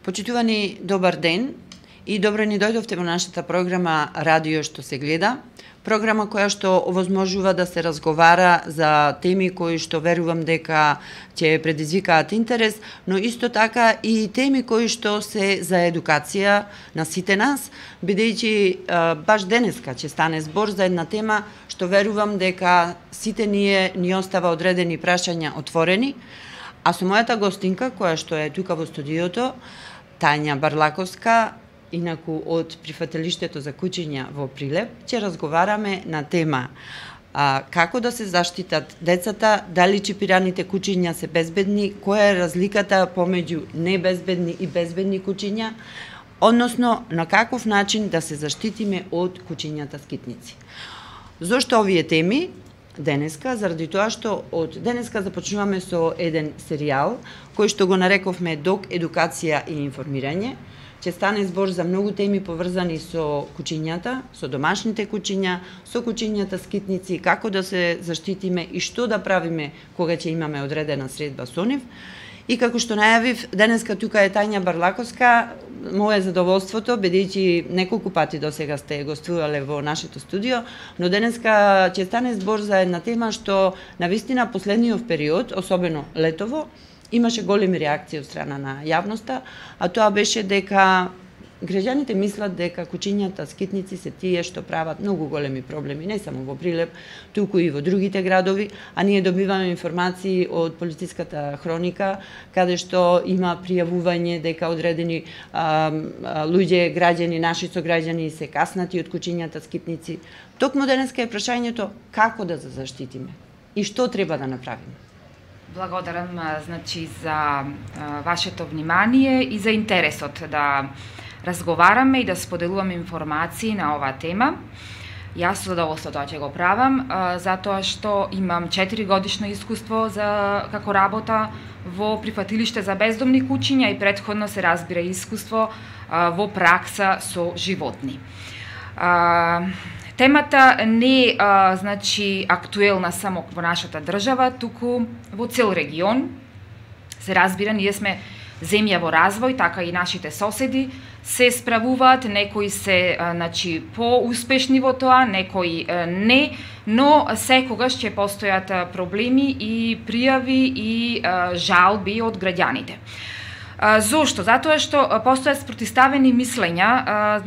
Почитувани, добар ден и добро ни дојдовте во нашата програма Радио што се гледа. Програма која што овозможува да се разговара за теми кои што верувам дека ќе предизвикаат интерес, но исто така и теми кои што се за едукација на сите нас, бидејќи баш денеска ќе стане збор за една тема што верувам дека сите ни остава одредени прашања отворени, а со мојата гостинка која што е тука во студиото, Тања Барлаковска, инаку од прифатилиштето за кучиња во Прилеп, ќе разговараме на тема како да се заштитат децата, дали чипираните кучиња се безбедни, која е разликата помеѓу небезбедни и безбедни кучиња, односно на каков начин да се заштитиме од кучињата скитници. Зошто овие теми? Денеска, заради тоа што од денеска започнуваме со еден серијал кој што го нарековме Док едукација и информирање. Ќе стане збор за многу теми поврзани со кучињата, со домашните кучиња, со кучињата скитници, како да се заштитиме и што да правиме кога ќе имаме одредена средба со нив. И како што најавив, денеска тука е Тања Барлаковска, мое задоволството, бидејќи неколку пати досега сте гостувале во нашето студио, но денеска ќе стане збор за една тема што навистина последниот период, особено летово, имаше големи реакции од страна на јавноста, а тоа беше дека граѓаните мислат дека кучињата скитници се тие што прават многу големи проблеми, не само во Прилеп, туку и во другите градови, а ние добиваме информации од полициската хроника, каде што има пријавување дека одредени луѓе, граѓани, наши сограѓани се каснати од кучињата скитници. Токму денеска е прашањето како да се заштитиме и што треба да направиме. Благодарам за вашето внимание и за интересот да разговараме и да споделуваме информации на оваа тема. Јас со задоволство тоа ќе го правам, затоа што имам 4-годишно искуство како работа во прифатилиште за бездомни кучиња и претходно се разбира искуство во пракса со животни. Темата не е актуелна само во нашата држава, туку во цел регион. Се разбира, ние сме земја во развој, така и нашите соседи се справуваат, некои се поуспешни во тоа, некои не, но секогаш ќе постојат проблеми и пријави и жалби од граѓаните. Зошто? Затоа што постојат спротиставени мислења,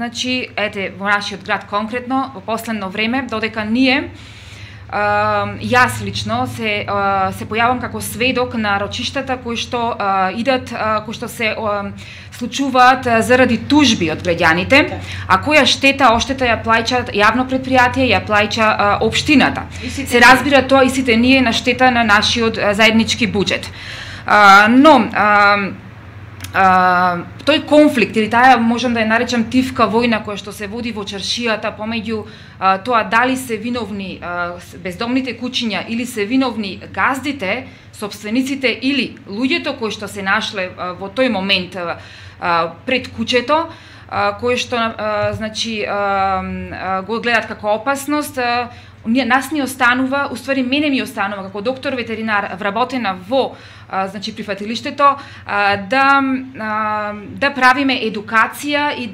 во нашиот град конкретно, во последно време, додека ние, јас лично се појавам како сведок на рочиштата кои што идат, кои што се случуваат заради тужби од граѓаните, а која оштета ја плаќа јавно предпријатие, ја плаќа општината. Се разбира тоа и сите ние на штета на нашиот заеднички буџет. Но тој конфликт или таа можам да ја наречам тивка војна која што се води во чаршијата помеѓу тоа дали се виновни бездомните кучиња или се виновни газдите, собствениците или луѓето кои што се нашле во тој момент пред куќето, кои што го гледат како опасност, нас ни останува, уствари мене ми останува како доктор ветеринар вработена во прифатилиштето да правиме едукација и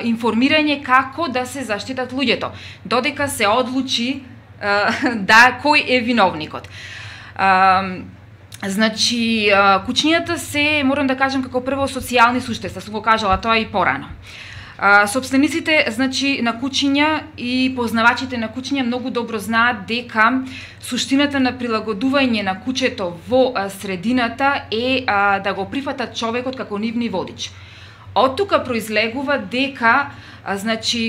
информирање како да се заштитат луѓето, додека се одлучи кој е виновникот. Кучињата се, морам да кажам, како прво социјални суштества, сум го кажала тоа и порано. Собствениците на кучиња и познавачите на кучиња многу добро знаат дека суштината на прилагодување на кучето во средината е да го прифатат човекот како нивни водич. Од тука произлегува дека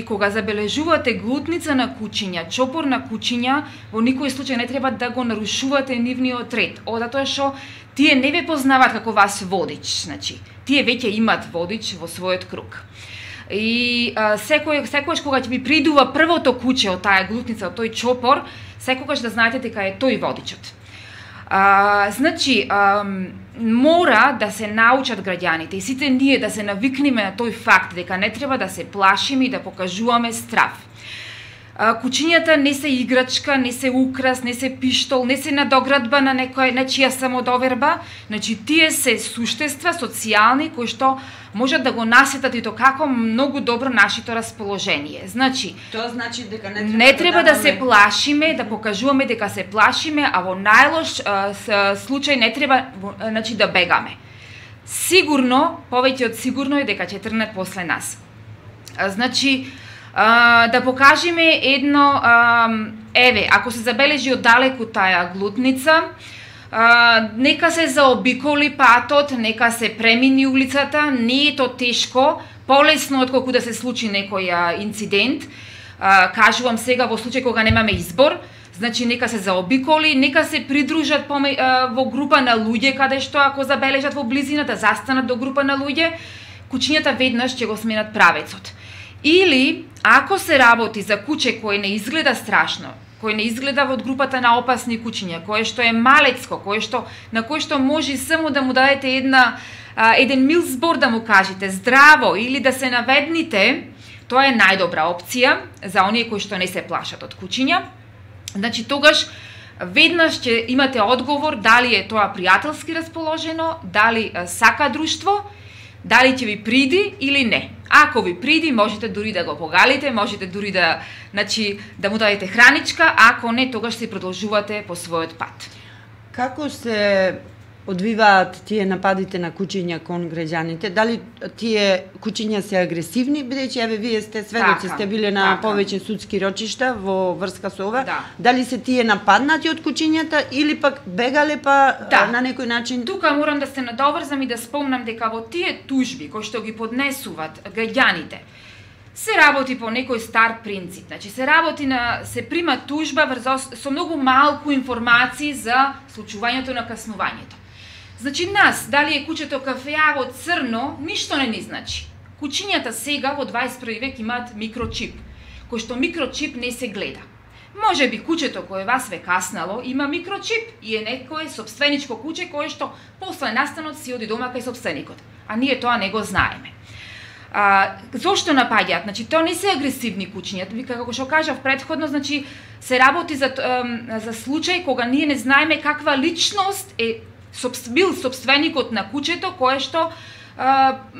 кога забележувате глутница на кучиња, чопор на кучиња, во никој случај не треба да го нарушувате нивниот ред, затоа што тие не ве познаваат како вас водич, тие веќе имаат водич во својот круг. И секогаш кога ќе ви придува првото куче од таа глутница, од тој чопор, секогаш да знаете дека е тој водичот. Мора да се научат граѓаните и сите ние да се навикнеме на тој факт дека не треба да се плашиме и да покажуваме страв. Кучињата не се играчка, не се украс, не се пиштол, не се надоградба на нечија самодоверба. Значи, тие се суштества социјални кои што можат да го насетат и то како многу добро нашето расположение. Значи, тоа значи дека не треба да се плашиме, да покажуваме дека се плашиме, а во најлош случај не треба значи да бегаме. Сигурно, повеќе од сигурно е дека ќе тргнат после нас. Значи, да покажеме едно, еве, ако се забележи оддалеку таа глутница, нека се заобиколи патот, нека се премини улицата, не е то тешко, полесно отколку да се случи некој инцидент. Кажувам сега во случај кога немаме избор, значи нека се заобиколи, нека се придружат во група на луѓе, каде што ако забележат во близина да застанат до група на луѓе, кучињата веднаш ќе го сменат правецот. Или, ако се работи за куче кое не изгледа страшно, кое не изгледа од групата на опасни кучиња, кое што е малецко, на кое што може само да му дадете еден мил збор да му кажете здраво или да се наведните, тоа е најдобра опција за оние кои што не се плашат од кучиња. Значи, тогаш веднаш ќе имате одговор дали е тоа пријателски расположено, дали сака друштво, дали ќе ви приди или не. Ако ви приди, можете дури да го погалите, можете дури да му дадете храничка, ако не, тогаш се продолжувате по својот пат. Како се одвиваат тие нападите на кучиња кон граѓаните? Дали тие кучиња се агресивни, бидејќи еве вие сте сведоци, сте биле на повеќе судски рочишта во врска со ова? Да. Дали се тие нападнати од кучињата или пак бегале на некој начин? Тука морам да се надоврзам и да спомнам дека во тие тужби кои што ги поднесуваат граѓаните се работи по некој стар принцип. Значи се прима тужба со многу малку информации за случувањето на каснувањето. Значи нас, дали е кучето кафеаво црно, ништо не ни значи. Кучињата сега во 21 век имаат микрочип, кој што микрочип не се гледа. Може би кучето кое вас ве каснало има микрочип и е некое собственичко куче кое што после настанот си оди дома кај собственикот, а ние тоа не го знаеме. Зошто напаѓаат? Значи, тоа не се агресивни кучиња. Како што кажав претходно, значи се работи за случај кога ние не знаеме каква личност е бил собственикот на кучето кај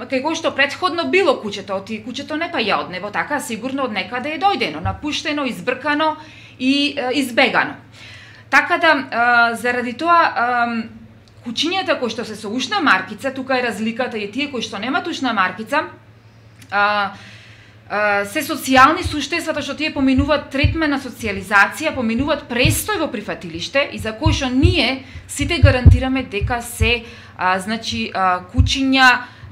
кој што претходно било кучето, кучето не паја од него, така сигурно од некаде е дојдено, напуштено, избркано и избегано. Така да заради тоа кучињата кои што се со ушна маркица, тука е разликата и тие кои што немаат ушна маркица, се социјални суштества што тие поминуваат третмена социјализација, поминуваат престој во прифатилиште и за кој што ние сите гарантираме дека се кучиња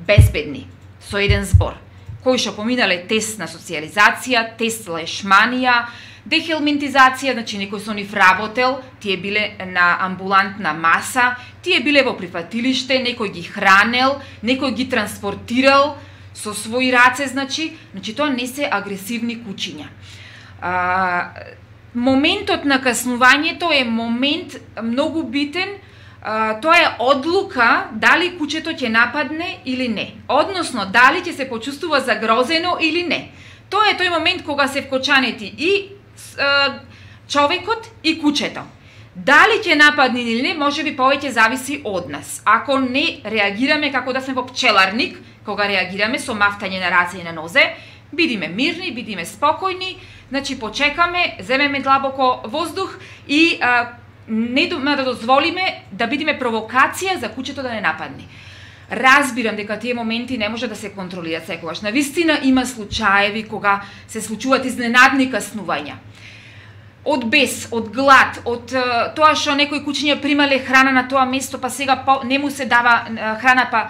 безбедни, со еден збор, кои што поминале тест на социјализација, тест лешманија, дехелминтизација, значи некој со нив работел, тие биле на амбулантна маса, тие биле во прифатилиште, некој ги хранел, некој ги транспортирал со своји раце, значи тоа не се агресивни кучиња. Моментот на каснувањето е момент многу битен, тоа е одлука дали кучето ќе нападне или не, односно дали ќе се почувствува загрозено или не. Тоа е тој момент кога се вкочанети и човекот и кучето. Дали ќе нападне или не, може би повеќе зависи од нас. Ако не реагираме како да сме во пчеларник, кога реагираме со мафтање на раце и на нозе, бидиме мирни, бидиме спокојни, значи почекаме, земеме длабоко воздух и не да дозволиме да бидиме провокација за кучето да не нападне. Разбирам дека тие моменти не може да се контролираат секогаш. Навистина има случаеви кога се случуваат изненадни каснувања. Од бес, од глад, од тоа што некои кучиња примале храна на тоа место, па сега не му се дава храна,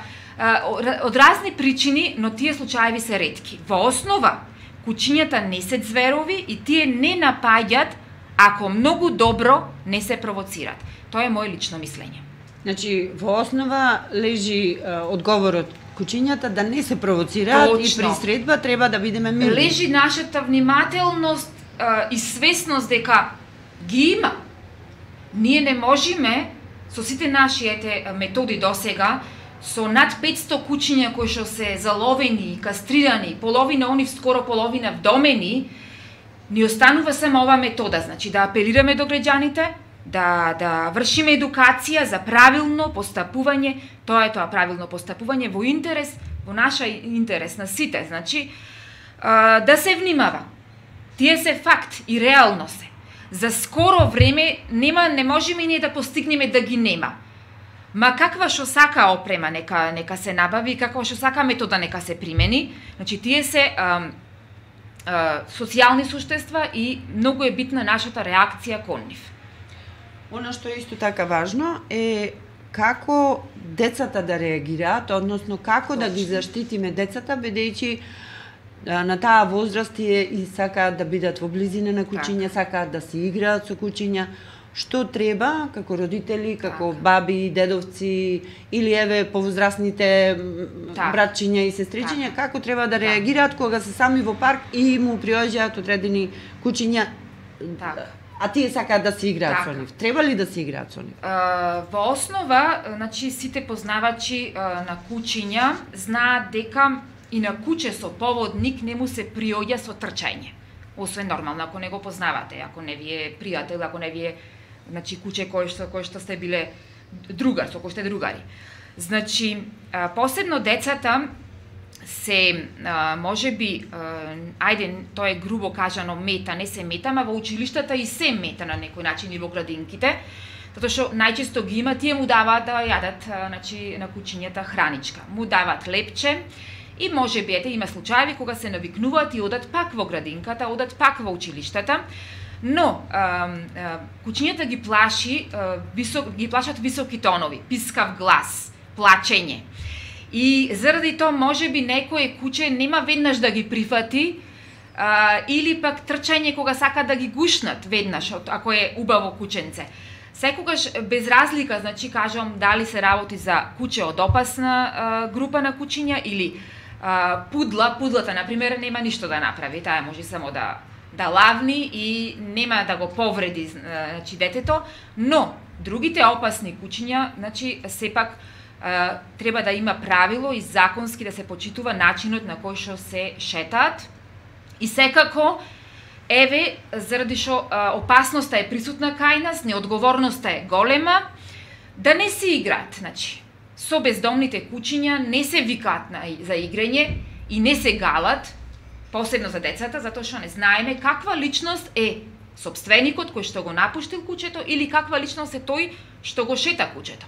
од разни причини, но тие случаеви се ретки. Во основа, кучињата не се зверови и тие не напаѓаат ако многу добро не се провоцират. Тоа е моје лично мислење. Значи, во основа лежи одговорот кучињата да не се провоцираат и при средба треба да бидеме мирни. Лежи нашата внимателност и свесност дека ги има. Ние не можеме со сите нашите методи досега, со над 500 кучиња кои што се заловени, кастрирани, половина онив скоро половина вдомени, ни останува само ова метода, значи да апелираме до граѓаните, да вршиме едукација за правилно постапување, тоа е правилно постапување во интерес, во наша интерес на сите, значи да се внимава. Тие се факт и реално се. За скоро време не можеме ние да постигнеме да ги нема. Ма каква што сака опрема нека се набави, каква што сака метода нека се примени. Значи тие се социјални суштества и многу е битна нашата реакција кон нив. Она што е исто така важно е како децата да реагираат, односно како да ги заштитиме децата, бидејќи на таа возраст и сакаат да бидат во близина на куќиња, сакаат да се играат со куќиња. Што треба како родители, како баби, дедовци или еве повозрастните братчиња и сестричиња, како треба да реагираат кога се сами во парк и му приоѓаат одредени куќиња, а тие сакаат да се играат со нив. Треба ли да се играат со нив? Во основа, значи сите познавачи на куќиња знаат дека и на куќе со поводник не му се приоѓа со трчање. Освен нормално, ако не го познавате, ако не ви е пријател, ако не ви е куќе кој што сте биле другар, со кој сте другари. Значи, посебно децата се, можеби, тоа е грубо кажано мета, не се мета, ама во училиштата и се мета на некој начин и во градинките, затоа што најчесто ги има, тие му даваат да јадат на куќињата храничка. Му даваат лепче, и може би, има случаи кога се навикнуваат и одат пак во градинката, одат пак во училиштата, но куќињата ги плашат високи тонови, пискав глас, плачење. И заради тоа може би некое куќе нема веднаш да ги прифати, или пак трчање кога сака да ги гушнат веднаш, ако е убаво куќенце. Секогаш без разлика, значи кажам дали се работи за куќе од опасна група на куќиња или пудлата, например, нема ништо да направи, таа може само да лавни и нема да го повреди значи детето, но другите опасни куќиња, значи сепак треба да има правило и законски да се почитува начинот на кој што се шетаат и секако еве заради што опасноста е присутна кај нас, неодговорноста е голема, да не се играат, значи со бездомните куќиња не се викаат за играње и не се галат, посебно за децата, затоа што не знаеме каква личност е сопственикот кој што го напуштил куќето или каква личност е тој што го шета куќето.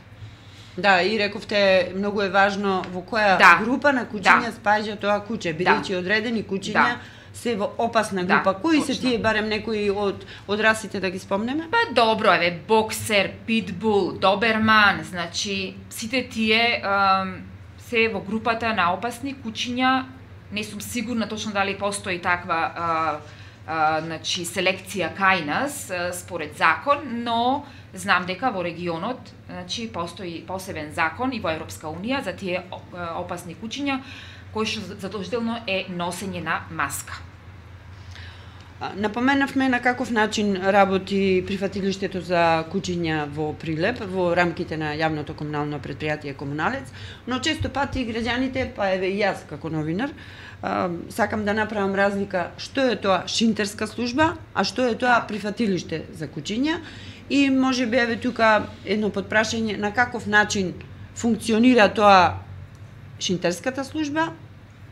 Да, и рековте, многу е важно во која група на куќиња спаѓа тоа куќе, бидејќи одредени куќиња се во опасна група. Кои се тие, барем некои од расите да ги спомнеме? Па добро, еве, боксер, питбул, доберман, значи сите тие се во групата на опасни куќиња. Не сум сигурна точно дали постои таква значи селекција кај нас според закон, но знам дека во регионот значи постои посебен закон и во Европска унија за тие опасни куќиња кој што задолжително е носење на маска. Напоменавме на каков начин работи прифатилиштето за куќиња во Прилеп, во рамките на јавното комунално предпријатие Комуналец, но често пати граѓаните, па еве и јас како новинар, сакам да направам разлика што е тоа шинтерска служба, а што е тоа прифатилиште за куќиња и може би еве тука едно подпрашање на каков начин функционира тоа шинтерската служба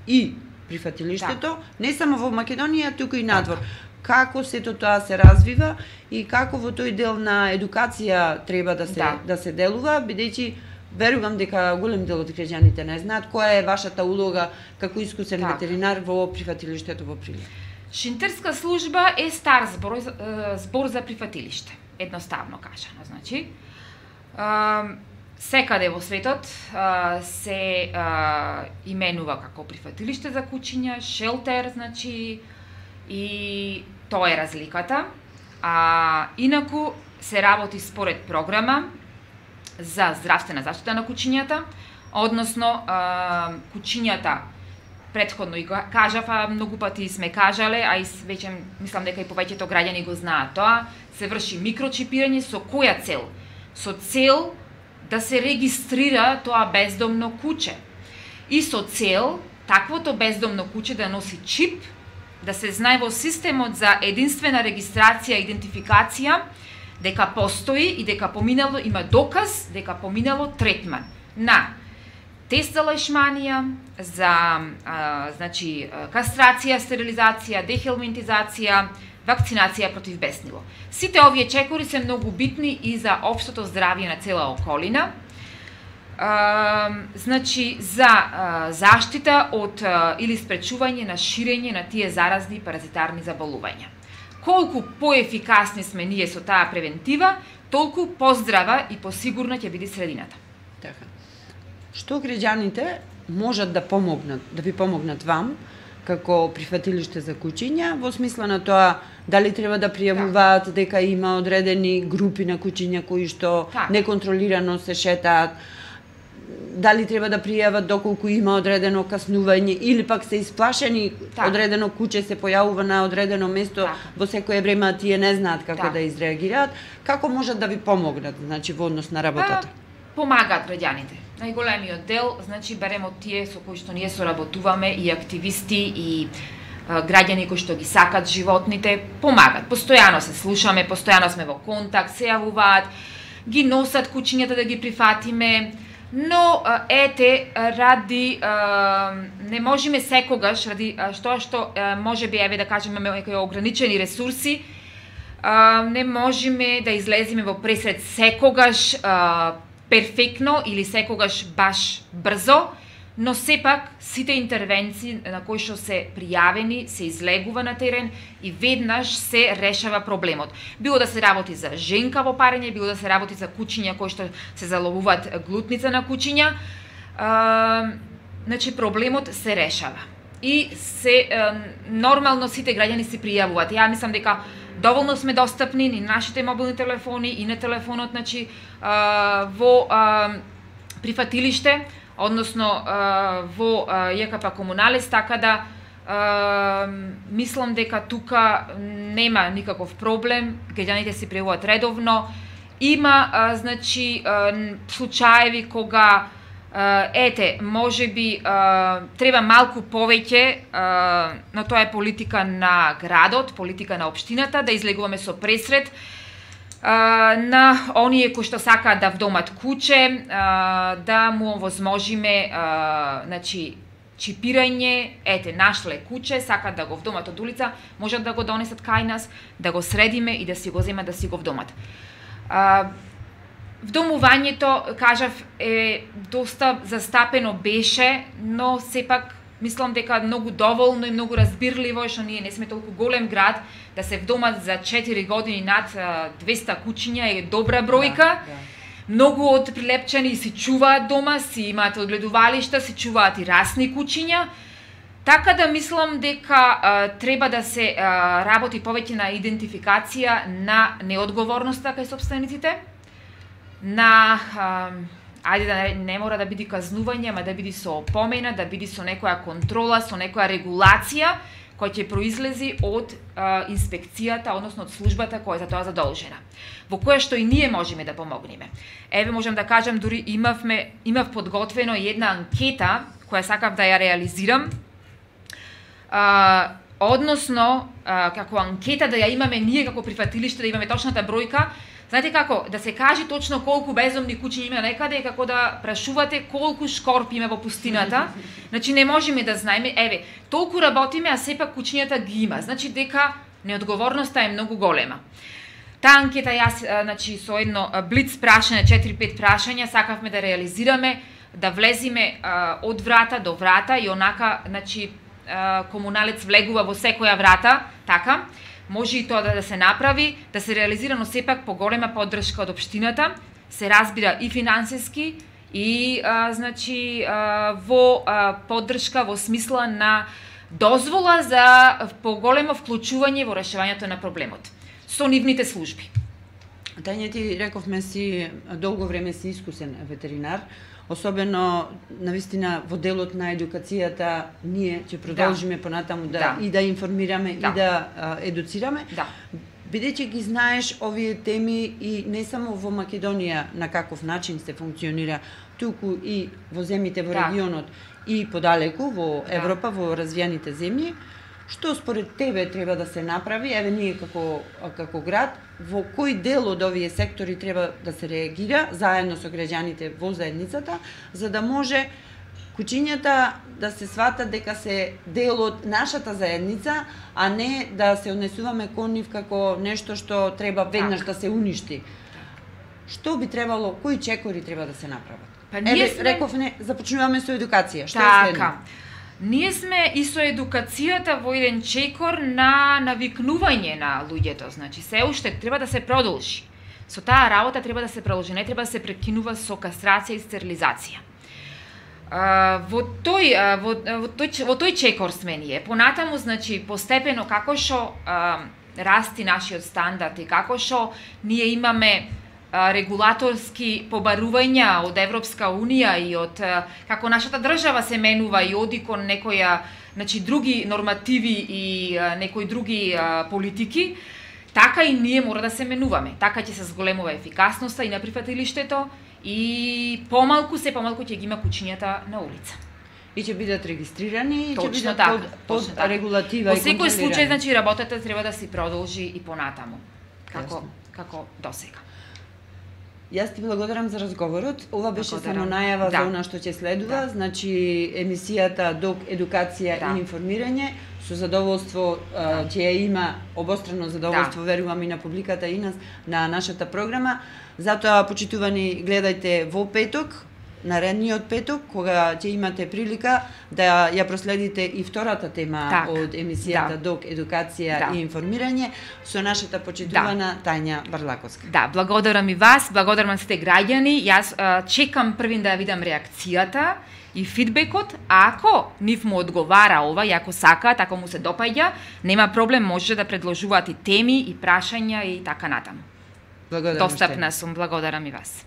и прифатилиштето, не само во Македонија, туку и надвор. Како сето тоа се развива и како во тој дел на едукација треба да се делува, бидејќи верувам дека голем дел од граѓаните не знаат која е вашата улога како искусен ветеринар во прифатилиштето во Прилеп. Шинтерска служба е стар збор за прифатилиште, едноставно кажано, значи. Секаде во светот се именува како прифатилиште за куќиња, шелтер, значи, и тоа е разликата. Инаку се работи според програма за здравствена заштита на куќињата, односно куќињата, претходно и кажав, многу пати сме кажале, а и веќе мислам дека и повеќето граѓани го знаат тоа, се врши микрочипирање со која цел? Со цел да се регистрира тоа бездомно куќе. И со цел таквото бездомно куќе да носи чип да се знае во системот за единствена регистрација и идентификација дека постои и дека поминало, има доказ дека поминало третман на тест за лешманија, за значи кастрација, стерилизација, дехелминтизација, вакцинација против беснило. Сите овие чекори се многу битни и за општото здравје на цела околина. Значи за заштита од или спречување на ширење на тие заразни и паразитарни заболувања. Колку поефикасни сме ние со таа превентива, толку поздрава и посигурна ќе биде средината. Така. Што граѓаните можат да помогнат, да ви помогнат вам како прифатилиште за куќиња во смисла на тоа дали треба да пријавуваат дека има одредени групи на куќиња кои што неконтролирано се шетаат, дали треба да пријават доколку има одредено каснување или пак се исплашени, одредено куќе се појавува на одредено место во секое време, а тие не знаат како да изреагираат, како можат да ви помогнат, значи во однос на работата? Помагаат граѓаните. Најголемиот дел, значи берем од тие со кои што ние соработуваме и активисти и граѓани кои што ги сакат животните, помагаат. Постојано се слушаме, постојано сме во контакт, се јавуваат, ги носат куќињата да ги прифатиме. Но ете ради не можеме секогаш ради што можеби еве да кажеме некои ограничени ресурси, не можеме да излеземе во пресред секогаш перфектно или секогаш баш брзо, но сепак сите интервенции на кои што се пријавени се излегува на терен и веднаш се решава проблемот. Било да се работи за женкаво парење, било да се работи за куќиња кои што се заловуваат глутница на куќиња, значи проблемот се решава. И се нормално сите граѓани се пријавуваат. Ја мислам дека доволно сме достапни и на нашите мобилни телефони и на телефонот, значи во прифатилиште, односно во ЈКП Комуналес, така да мислам дека тука нема никаков проблем, граѓаните се пријавуваат редовно. Има значи случаеви кога ете, можеби треба малку повеќе, но тоа е политика на градот, политика на општината, да излегуваме со пресред на оние кои што сакаат да вдомат куќе, да му овозможиме значи чипирање, ете, нашле куќе, сакаат да го вдомат од улица, можат да го донесат кај нас, да го средиме и да си го земат, да си го вдомат. Вдомувањето, кажав, е доста застапено беше, но сепак мислам дека многу доволно и многу разбирливо, што ние не сме толку голем град, да се вдомат за 4 години над 200 куќиња е добра бројка. Многу од прилепчани си чуваат дома, си имаат одгледувалишта, си чуваат и расни куќиња. Така да мислам дека треба да се работи повеќе на идентификација на неодговорноста кај сопствениците, на ајде да не мора да биде казнување, ама да биде со опомена, да биде со некоја контрола, со некоја регулација која ќе произлези од инспекцијата, односно од службата која е за тоа задолжена, во која што и ние можеме да помогнеме. Еве можам да кажам, дури имав подготвено една анкета која сакав да ја реализирам, односно како анкета да ја имаме ние како прифатилиште, да имаме точната бројка. Знаете како, да се каже точно колку бездомни куќи има некаде е како да прашувате колку шкорпи има во пустината. Значи не можеме да знаеме, еве, толку работиме, а сепак куќињата ги има. Значи дека неодговорноста е многу голема. Таа анкета јас, значи со едно блиц прашање, 4-5 прашања, сакавме да реализираме, да влезиме од врата до врата и онака, значи, комуналец влегува во секоја врата, така. Може и тоа да се направи, да се реализира, но сепак поголема поддршка од општината, се разбира и финансиски, и значи во поддршка во смисла на дозвола за поголемо вклучување во решавањето на проблемот со нивните служби. Тања, ти рековме си долго време си искусен ветеринар, особено навистина во делот на едукацијата ние ќе продолжиме понатаму и да информираме и да едуцираме. Бидејќи ги знаеш овие теми и не само во Македонија на каков начин се функционира, туку и во земјите во регионот и подалеку во Европа, во развиените земји, Што според тебе треба да се направи, еве ние како град, во кој дел од овие сектори треба да се реагира заедно со граѓаните во заедницата, за да може куќињата да се сватат дека се дел од нашата заедница, а не да се однесуваме кон нив како нешто што треба веднаш да се уништи. Што би требало, кои чекори треба да се направат? Па ние рековме, започнуваме со едукација. Што така, е следно? Ние сме и со едукацијата во еден чекор на навикнување на луѓето, значи се уште треба да се продолжи. Со таа работа треба да се продолжи, не треба да се прекинува со кастрација и стерилизација. Во тој чекор сме ние. Понатаму, значи, постепено како што расти нашиот стандард и како што ние имаме регулаторски побарувања од Европска Унија и од како нашата држава се менува и оди кон некоја, значи, други нормативи и некои други политики, така и ние мора да се менуваме. Така ќе се зголемува ефикасноста и на прифатилиштето и помалку ќе ги има куќињата на улица. И ќе бидат регистрирани, и ќе бидат така, под регулатива и контролирани. Во секој случај, значи, работата треба да се продолжи и понатаму, како досега. Јас ти благодарам за разговорот. Ова беше само најава за она што ќе следува, значи емисијата ДОК едукација и информирање. Со задоволство ќе ја има обострано задоволство, верувам и на публиката и на нашата програма. Затоа, почитувани, гледајте во петок, наредниот петок, кога ќе имате прилика да ја проследите и втората тема од емисијата ДОК едукација и информирање со нашата почитувана Тања Барлаковска. Да, благодарам и вас, благодарам на сите граѓани. Јас чекам првин да ја видам реакцијата и фидбекот, ако нив му одговара ова, и ако сакаат, ако му се допаѓа, нема проблем, може да предложуваат и теми, и прашања и така натаму. Благодарам. Достапна сум, благодарам и вас.